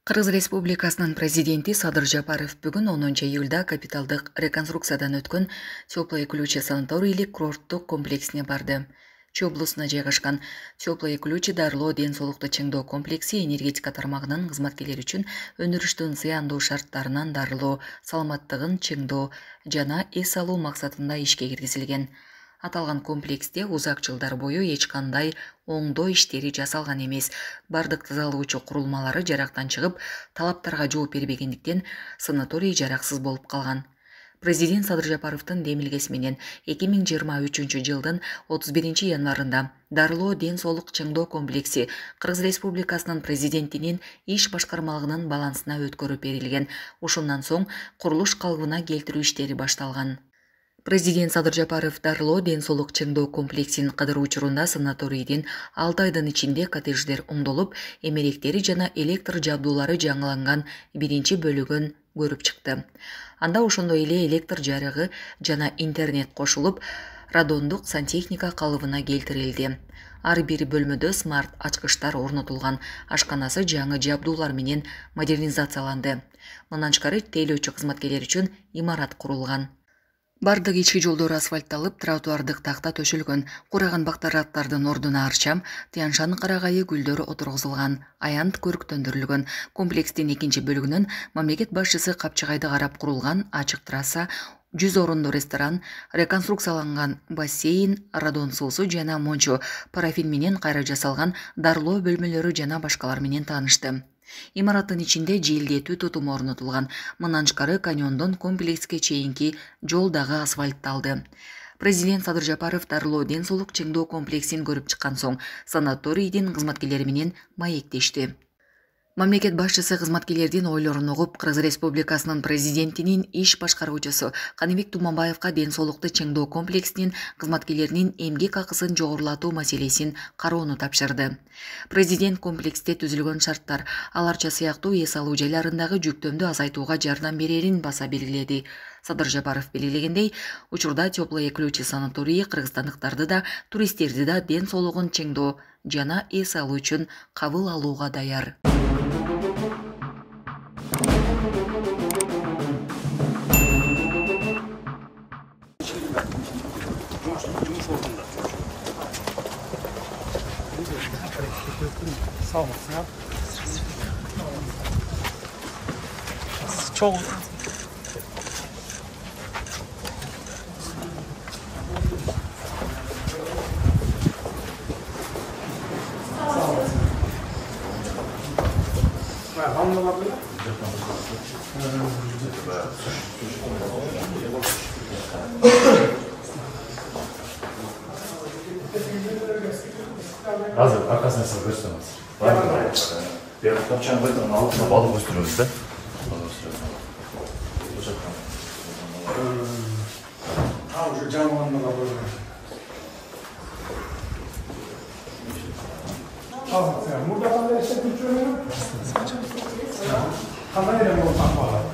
Кыргыз Республикасынын президенти Садыр Жапаров бүгүн 10 июлда капиталдык реконструкциядан өткөн Теплые ключи санаторийлик курорттук комплексине барды. Чүй облусуна жайгашкан Теплые ключи дарылоо ден соолукту чыңдоо комплекси энергетика тармагынын кызматкерлери үчүн өндүрүштүн зыяндуу шарттарынан дарылоо, саламаттыгын чыңдоо жана эс алуу максатында ишке киргизилген. Аталган комплексте узак жылдар бою эч кандай оңдоо иштери жасалган эмес. Бардык тазалоочу курулмалары жарактан чыгып, талаптарга жооп бербегендиктен санаторий жараксыз болуп калган. Президент Садыр Жапаровдун демилгеси менен 2023 жылдын 31 январында дарылоо ден соолук чыңдоо комплекси Кыргыз Республикасынын президентинин иш башкармалыгынын балансына өткөрүп берилген. Ушундан соң курулуш калыбына келтирүү иштери башталган. Президент Садыр Жапаров дарылоо ден соолук чыңдоо комплексин кыдыруу учурунда санаторийдин 6 айдын ичинде коттедждер оңдолуп, эмеректери жана электр жабдуулары жаңыланган биринчи бөлүгүн көрүп чыкты. Анда ошондой эле электр жарыгы жана интернет кошулуп, радондук сантехника калыбына келтирилди. Ар бир бөлмөдө смарт ачкычтар орнотулган, ашканасы жаңы жабдуулар менен модернизацияланды. Мындан тышкары тейлөөчү кызматкерлер үчүн имарат курулган. Бардык ички жолдор асфальтталып, тротуардык такта төшөлгөн, кураган бактараттардын ордуна арчам, тяншан карагайы гүлдөрү отургузулган, аянт көрүктөндүрүлгөн. Комплекстин экинчи бөлүгүнөн мамлекет башчысы капчыгайды карап курулган ачык трасса, 100 орундуу ресторан, реконструкцияланган бассейн, радон суусу жана мончо, парафин менен кайра жасалган дарылоо бөлмөлөрү жана башкалар менен таанышты. Имараттын ичинде желдетүү тутуму орнотулган. Мындан тышкары каньондон комплекске чейинки жол дагы асфальтталды. Президент Садыр Жапаров дарылоо ден соолук чыңдоо комплексин көрүп чыккан соң санаторийдин кызматкерлери менен маектешти. Мамлекет башчысы кызматкерлердин ойлорун угуп, Кыргыз Республикасынын президентинин иш башкаруучусу Каныбек Туманбаевка ден соолукту чыңдоо комплексинин кызматкерлеринин эмгек акысын жогорулатуу маселесин кароону тапшырды. Президент комплексте түзүлгөн шарттар аларча сыяктуу эс алуу жайларындагы жүктөмдү азайтууга жардам берерин баса белгиледи. Садыр Жапаров белгилегендей, учурда Теплые ключи санаторийи кыргызстандыктарды да, туристтерди да ден соолугун чыңдоо жана эс алуу үчүн кабыл алууга даяр. Азыр аркасына сиз көрсөңүз. Бир топчан койдун алдына балык өстүрөбүз да. Уже жаңылганда койгон. Мурда кандай иштеп жүрүшүңүз? Кандай эле болуп калган?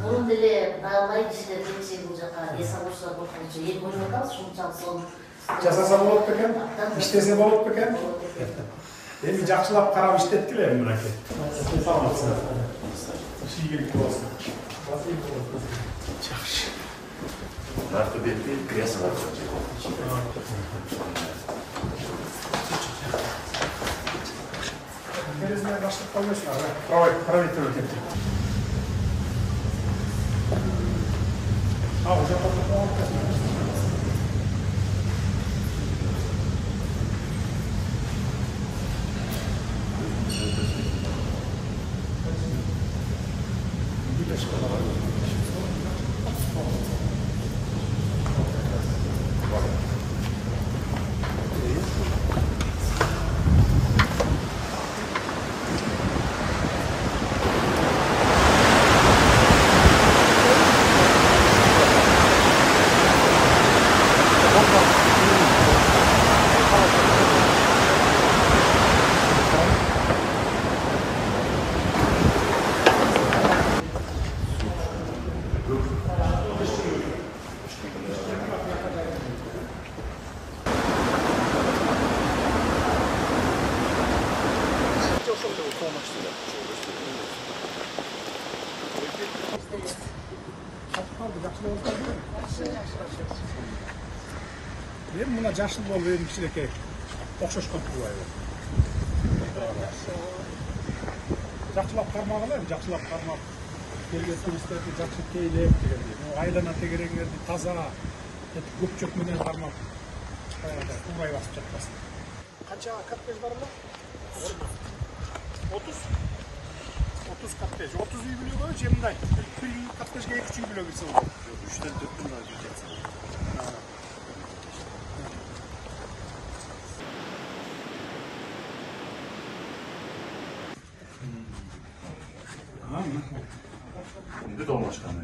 Мурун деле аябай кишилер келчү бул жака эс алуучулар болчу. Эки бөлүнүп калды, ушунчалык сонун. Жасаса болот бекен? Иштесе болот бекен? Эми жакшылап карап иштеткиле мынакей. Саламатсыздар. Ийгилик болсун. Жакшы. Нарты бетти кресло бар. Терезене баштап коймойсуңар, правительство кетти. Уже потом жашыл болуп эми кичинекей окшошкон турбайбы? Жакшылап кармагыла, жакшылап кармап келген туристтерди жакшы тейлеп дегендей. Айлана тегереңерди таза көк чөп менен кармап турбай басып жатпасын. Канча коттедж бар эле? 30 коттедж. 30 үй бүлөгө же мындай? Bir коттеджге 2-3 үй бүлө кирсе болот. 3-тен 4 да жетет. Şimdi de başkanı.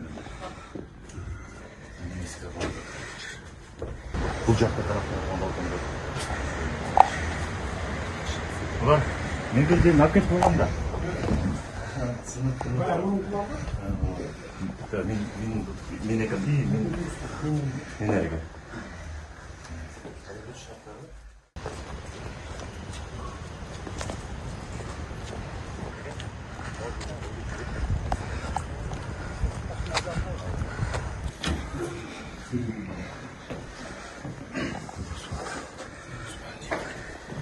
Bu cadde tarafından balkonda. Ulan ne bildiğin nakit koyalım da. Min enerji.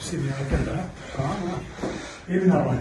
Seni hareketler. Tamam mı? Evin arabaya.